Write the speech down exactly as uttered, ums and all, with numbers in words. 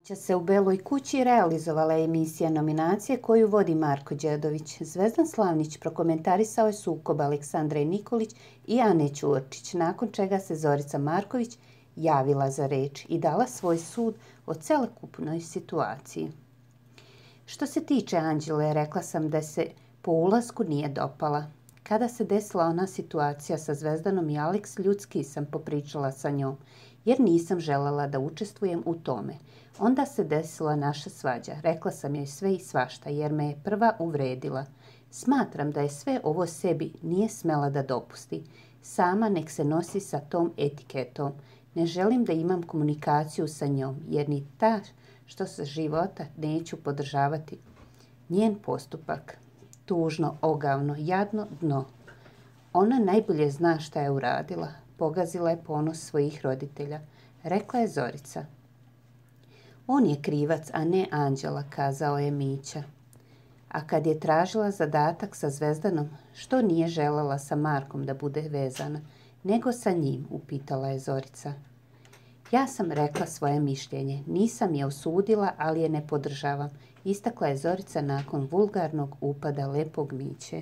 Će se u Beloj kući realizovala emisija nominacije koju vodi Marko Đedović. Zvezdan Slavnić prokomentarisao je sukob Aleksandre Nikolić i Ane Ćurčić, nakon čega se Zorica Marković javila za reč i dala svoj sud o celokupnoj situaciji. Što se tiče Anđele, rekla sam da se po ulasku nije dopala. Kada se desila ona situacija sa Zvezdanom i Aleks, ljudski sam popričala sa njom, jer nisam želela da učestvujem u tome. Onda se desila naša svađa. Rekla sam joj sve i svašta, jer me je prva uvredila. Smatram da je sve ovo sebi nije smela da dopusti. Sama nek se nosi sa tom etiketom. Ne želim da imam komunikaciju sa njom, jer ni ta što sa života neću podržavati. Njen postupak. Tužno, ogavno, jadno dno. Ona najbolje zna šta je uradila. Pogazila je ponos svojih roditelja. Rekla je Zorica. On je krivac, a ne Anđela, kazao je Mića. A kad je tražila zadatak sa Zvezdanom, što nije želela sa Markom da bude vezana, nego sa njim, upitala je Zorica. Ja sam rekla svoje mišljenje. Nisam je osudila, ali je ne podržavam, istakla je Zorica nakon vulgarnog upada lepog Miće.